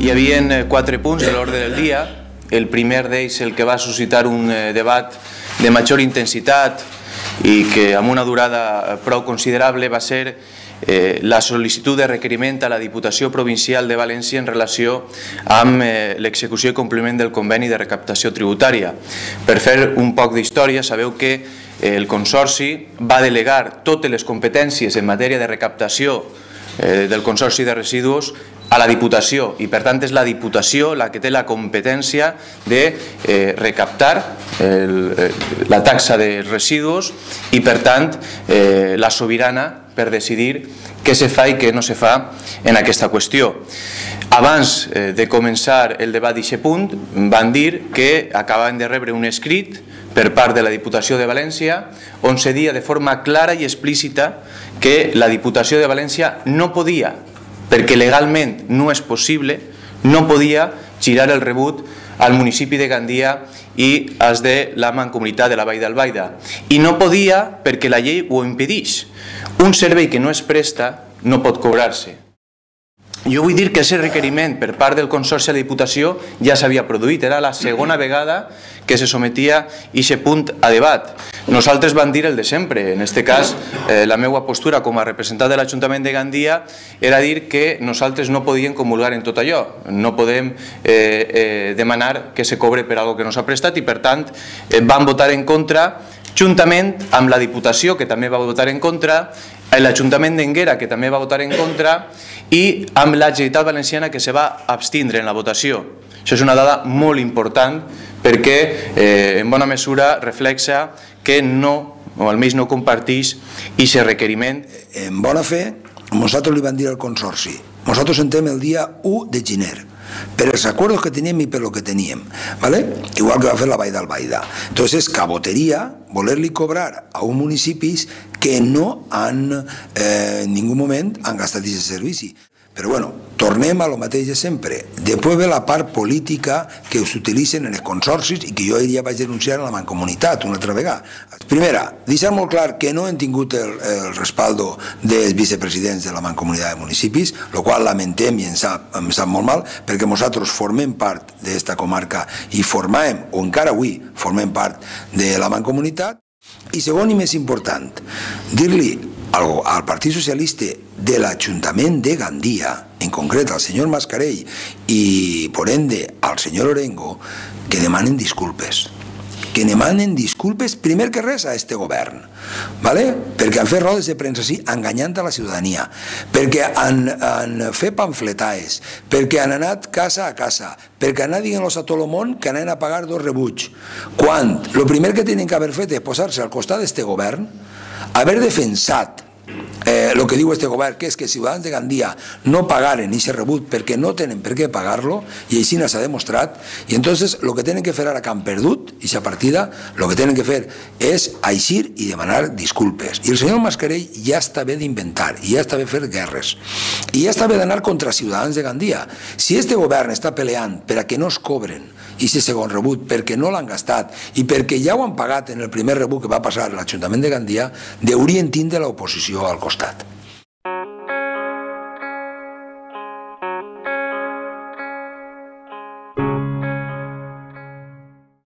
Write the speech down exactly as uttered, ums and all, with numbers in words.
Hi havia quatre punts de l'ordre del dia. El primer d'ells, el que va suscitar un debat de major intensitat i que amb una durada prou considerable va ser eh, la sol·licitud de requeriment a la Diputació Provincial de València en relació amb eh, l'execució i compliment del conveni de recaptació tributària. Per fer un poc d'història, sabeu que el Consorci va delegar totes les competències en matèria de recaptació eh, del Consorci de Residus a la Diputació, i per tant és la Diputació la que té la competència de eh, recaptar el, eh, la taxa de residus i per tant eh, la sobirana per decidir què se fa i què no se fa en aquesta qüestió. Abans eh, de començar el debat d'aquest punt van dir que acabaven de rebre un escrit per part de la Diputació de València on se dia de forma clara i explícita que la Diputació de València no podia, perquè legalment no és possible, no podia girar el rebut al municipi de Gandia i als de la Mancomunitat de la Vall d'Albaida. I no podia perquè la llei ho impedeix. Un servei que no es presta no pot cobrar-se. Jo vull dir que aquest requeriment per part del Consorci a la Diputació ja s'havia produït. Era la segona vegada que se sometia aquest punt a debat. Nosaltres vam dir el de sempre. En aquest cas, eh, la meva postura com a representant de l'Ajuntament de Gandia era dir que nosaltres no podíem comulgar en tot allò. No podem eh, eh, demanar que se cobre per algo que no s'ha prestat i, per tant, eh, vam votar en contra, juntament amb la Diputació, que també va votar en contra, l'Ajuntament d'Énguera, que també va votar en contra, i amb la Generalitat Valenciana, que se va abstindre en la votació. Això és una dada molt important perquè eh, en bona mesura reflexa que no, o almenys no compartís aquest requeriment. En bona fe, nosaltres li vam dir al Consorci, nosaltres entrem el dia u de gener, per els acuerdos que teníem i per lo que teníem, ¿vale? Igual que va fer la Vall d'Albaida. Entonces és caboteria voler-li cobrar a uns municipis que no han, eh, en ningú moment, han gastat aquest servici. Però bueno, tornem a lo mateix de sempre. Després ve la part política que s'utilitzen en els consorcis i que jo ja vaig denunciar a la Mancomunitat una altra vegada. Primera, deixar molt clar que no hem tingut el, el respaldo dels vicepresidents de la Mancomunitat de Municipis, el qual lamentem i em sap, em sap molt mal, perquè nosaltres formem part d'esta comarca i formem, o encara avui formem part de la Mancomunitat. I segon i més important, dir-li al, al Partit Socialista de l'Ajuntament de Gandia, en concret al senyor Mascarell i, por ende, al senyor Orengo, que demanen disculpes. Que demanen disculpes, primer que res, a este govern, ¿vale? Perquè han fet rodes de premsa així, enganyant a la ciutadania, perquè han, han fet pamfletaes, perquè han anat casa a casa, perquè han anat dient-los a tot el món que anaven a pagar dos rebuts, quan el primer que tenen que haver fet és posar-se al costat d'este govern, haver defensat Eh, el que diu este govern, que és que ciutadans de Gandia no pagaren aquest rebut perquè no tenen per què pagar-lo, i així s'ha demostrat, i entonces el que tenen que fer ara que han perdut aquesta partida, el que tenen que fer és eixir i demanar disculpes. I el senyor Mascarell ja està bé d'inventar, i ja està bé fer guerres, i ja està bé d'anar contra ciutadans de Gandia. Si este govern està peleant per a que no es cobren aquest segon rebut perquè no l'han gastat i perquè ja ho han pagat en el primer rebut que va passar a l'Ajuntament de Gandia, deurien tindre l'oposició al costat.